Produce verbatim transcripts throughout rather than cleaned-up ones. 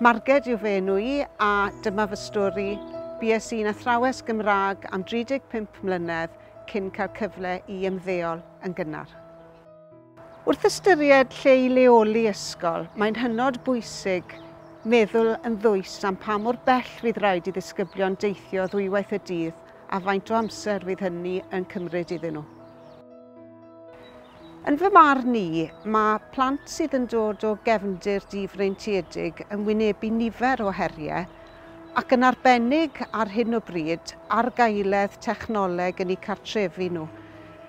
Marged yw fy enw i a dyma fy stori. Bues i'n athrawes Gymraeg am dri deg pump mlynedd cyn cael cyfle i ymddeol yn gynnar. Wrth ystyried lle i leoli ysgol, mae'n hynod bwysig meddwl yn ddwys am pa mor bell fydd rhaid i ddisgyblion deithio ddwywaith y dydd a faint o amser fydd hynny yn cymryd iddyn nhw. Yn fy marn i, mae plant sydd yn dod o gefndir difreintiedig yn wynebu nifer o heriau ac yn arbennig ar hyn o bryd argaeledd technoleg yn eu cartrefi nhw.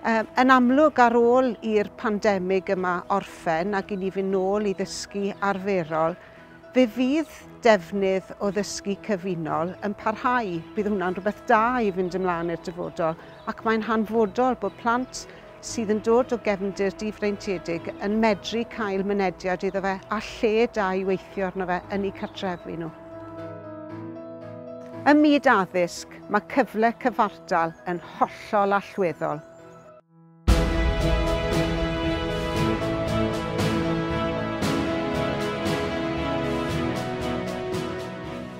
Yn amlwg ar ôl i'r pandemig yma orffen ac i ni fynd nôl i ddysgu arferol, fe fydd defnydd o ddysgu cyfunol yn parhau. Bydd hwnna'n rhywbeth da i fynd ymlaen i'r dyfodol ac mae'n hanfodol bod plant sydd yn dod o gefndir difreintiedig yn medru cael mynediad iddo fe a lle da i weithio arno fe yn eu cartrefi nhw. Ym myd addysg, mae cyfle cyfartal yn hollol allweddol.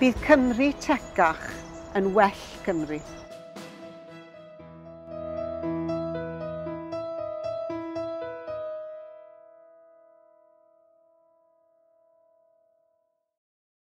Bydd Cymru tecach yn well Cymru.